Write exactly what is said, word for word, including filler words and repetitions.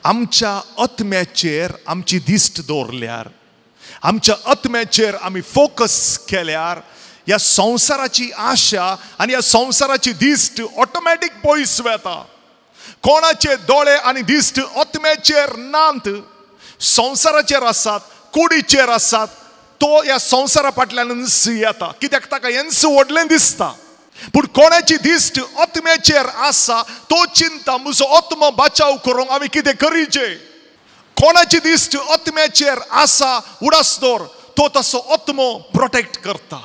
आमच्या आत्म्याचेर आमची दिश्ट दवरल्यार, आमच्या आत्म्याचेर आमी फोकस केल्यार ह्या संवसाराची आशा आनी ह्या संवसाराची दिश्ट ऑटोमॅटीक पयस वता. कोणाचे दोळे आनी दिश्ट आत्म्याचेर नात, संवसाराचेर आसात, कुडीचेर आसात, तो ह्या संवसारा फाटल्यान येता, कित्याक ताका हेंच व्हडलें दिसता. पूण कोणाची दिश्ट आत्म्याचेर आसा तो चिंता म्हजो आत्मो बचाव करूंक आमी कितें करीचे. कोणाची दिश्ट आत्म्याचेर आसा उडास दवर, तो तसो आत्मो प्रोटेक्ट करता.